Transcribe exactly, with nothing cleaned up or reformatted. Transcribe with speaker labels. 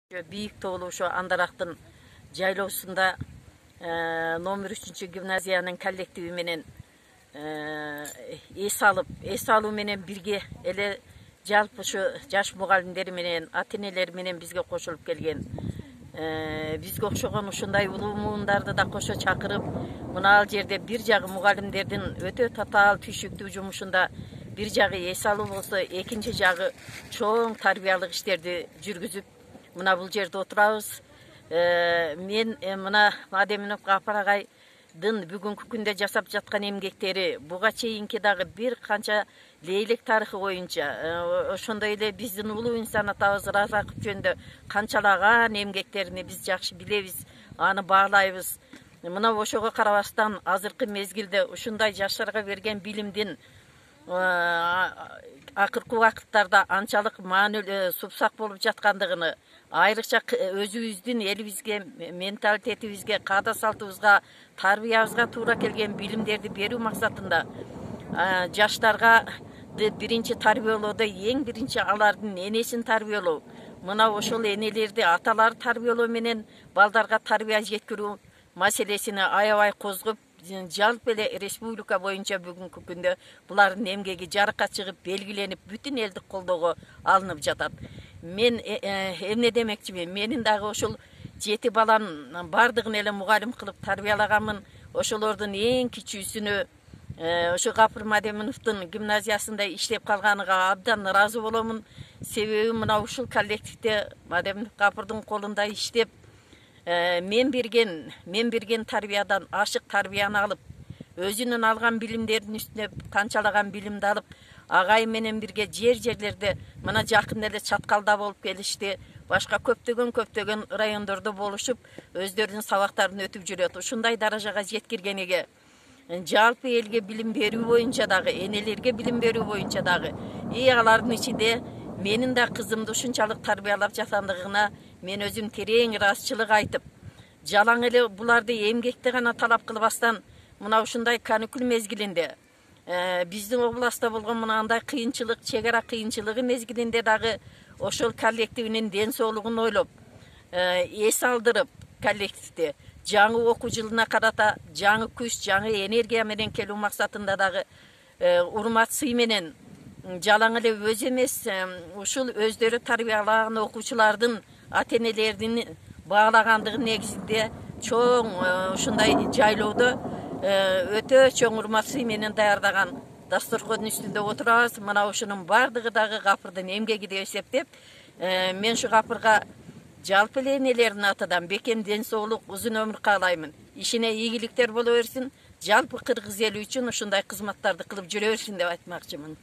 Speaker 1: Бийик тоолуу ошо Андарактын жайлоосунда номер үчүнчү гимназиянын коллективи менен эс алып, эс алуу менен бирге эле жалпы ушу жаш мугалимдер менен, ата энелер менен бизге кошулуп келген. Бизге окшогон ушундай улуу муундарды да кошо чакырып, мына ал жерде бир жагы мугалимдердин өтө татаал түйшүктүү жумушунда бир жагы эс алуу болсо, экинчи жагы чоң тарбиялык иштерди жүргүзүп мына бул жерде отурабыз. Мен мына Мадеминов Гапар агайдын бүгүнкү күндө жасап жаткан эмгектери, буга чейинки дагы бир канча лейлек тарыхы боюнча, ошондой эле биздин улуу инсан атабыз Разаков жөнүндө канчалаган эмгектерин биз жакшы билебиз, аны баалайбыз. Мына ошого карабастан азыркы мезгилде ушундай жаштарга берген билимдин акыркы убакыттарда анчалык маанилүү супсак болуп жаткандыгын, айрыкча өзүбүздүн элибизге, менталитетибизге, каада салтыбызга, тарбиябызга туура келген билимдерди берүү максатында жаштарга биринчи тарбиялоодо эң биринчи алардын энесин тарбиялоо, мына ошол энелерди аталары тарбиялоо менен балдарга тарбия жеткирүү маселесин аябай козгоп, жалпы эле республика боюнча бүгүнкү күндө булардын эмгеги жарыкка чыгып, белгиленип, бүтүн элдик колдоого алынып жатат. Мен эмне демекчимин, менин дагы ошол жети баланын бардыгын эле мугалим кылып тарбиялаганмын. Ошолордун эң кичүүсүнө ошо Гапар Мадеминовдун гимназиясында иштеп калганыга абдан ыраазы боломун. Себеби мына ушул коллективде Мадеминов Гапардын колунда иштеп, мен берген, мен берген тарбиядан ашык тарбияны алып, өзүнүн алган билимдеринин үстүнө канчалаган билимди алып, агай менен бирге жер-жерлерде мына жакында эле Чаткалда болуп келишти, башка көптөгөн көптөгөн райондордо болушуп, өздөрүнүн сабактарын өтүп жүрөт. Ушундай даражага жеткиргениге, жалпы элге билим берүү боюнча дагы, энелерге билим берүү боюнча дагы, и алардын ичинде менин да кызымды ушунчалык тарбиялап жаткандыгына мен өзүм терең ыраазычылык айтып, жалаң эле буларды эмгекти гана талап кылбастан, мына ушундай каникул мезгилинде, биздин областта болгон мынандай кыйынчылык, чек ара кыйынчылыгы мезгилинде дагы ошол коллективинин ден соолугун ойлоп, эс алдырып, коллективди жаңы окуу жылына карата жаңы күч, жаңы энергия менен келүү максатында дагы урмат сый менен жалаң эле өзү эмес, ушул өздөрү тарбиялаган окуучулардын ата энелердин баалагандыгы негизинде чоң ушундай жайлоодо өтө чоң урмат сый менен даярдаган дасторкондун үстүндө отурабыз. Мына ушунун бардыгы дагы Гапардын эмгеги деп эсептеп, мен ушу Гапарга жалпы эле энелердин атынан бекем ден соолук, узун өмүр каалаймын. Ишине ийгиликтер боло берсин, жалпы кыргыз эли үчүн ушундай кызматтарды кылып жүрө берсин деп айтмакчымын.